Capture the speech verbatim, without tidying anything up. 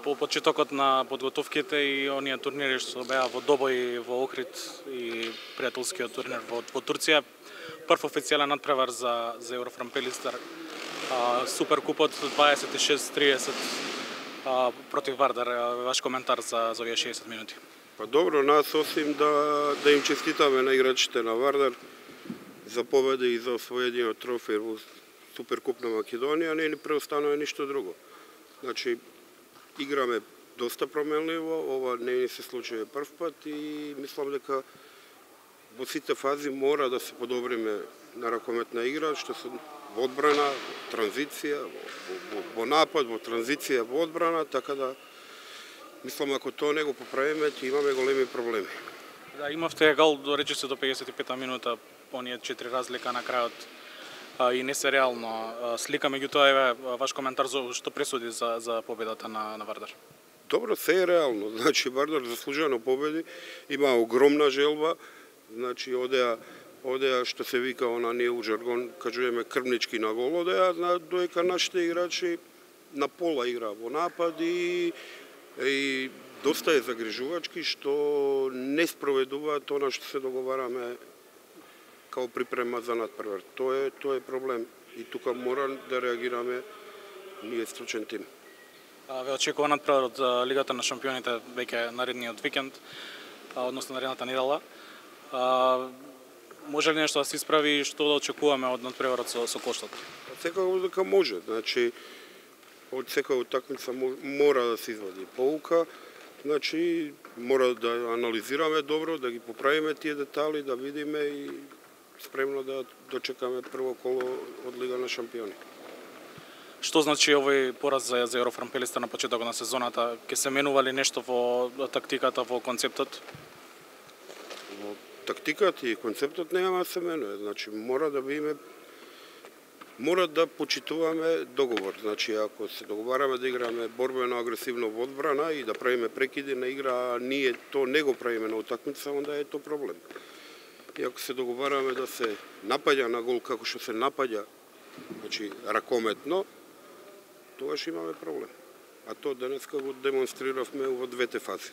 по почетокот на подготовките и оние турнири што беа во Добој, во Охрид и пријателскиот турнир во, во Турција, прв официјален надпревар за за Еврофрам Пелистер, Суперкупот дваесет и шест триесет против Вардар. Ваш коментар за за овие шеесет минути? Па добро, нас осим да да им честитаме на играчите на Вардар за победа и за освојениот трофеј во Суперкуп на Македонија, не ни преостанува ништо друго. Значи, играме доста променливо, ова не ни се случи прв пат и мислам дека во сите фази мора да се подобриме на ракометна игра, што се во одбрана, транзиција, во, во, во напад, во транзиција, во одбрана, така да мислам ако тоа не го поправиме, ќе имаме големи проблеми. Да, имавте гол до речиси до пеесет и пета минута, оние четири разлика на крајот и не се реално слика, меѓутоа еве ваш коментар за што пресуди за за победата на на Вардар. Добро, се е реално. Значи Вардар заслужено победи, има огромна желба, значи одеа одеа што се вика она ние у жаргон кажуваме крвнички на гол, одеа доека нашите играчи на пола игра во напад и и доста е загрижувачки што не спроведуваат она што се договараме као припрема за надпревар. Тоа е тоа е проблем и тука мора да реагираме ние стручен тим. Ве очекува надпревар од Лигата на шампионите веќе наредниот викенд, односно наредната недела. Може ли нешто да се исправи и што да очекуваме од надпреварот со со Коштот? Секако дека може, значи од секоја утакмица мора да се извади поука, значи мора да анализираме добро, да ги поправиме тие детали, да видиме и спремно да дочекаме прво коло од Лига на шампиони. Што значи овој пораз за, за Еврофрам Пелистер на почетокот на сезоната? Ке се менува ли нешто во тактиката, во концептот? Во тактиката и концептот нема да се менува. Значи мора да биме мора да почитуваме договор. Значи ако се договараме да играме борбено агресивно во одбрана и да правиме прекиди на игра, а ние то не го правиме на утакмица, онда е тоа проблем. И ако се договараме да се напаѓа на гол како што се напаѓа, значи ракометно, тогаш имаме проблем. А тоа денеска го демонстриравме во двете фази.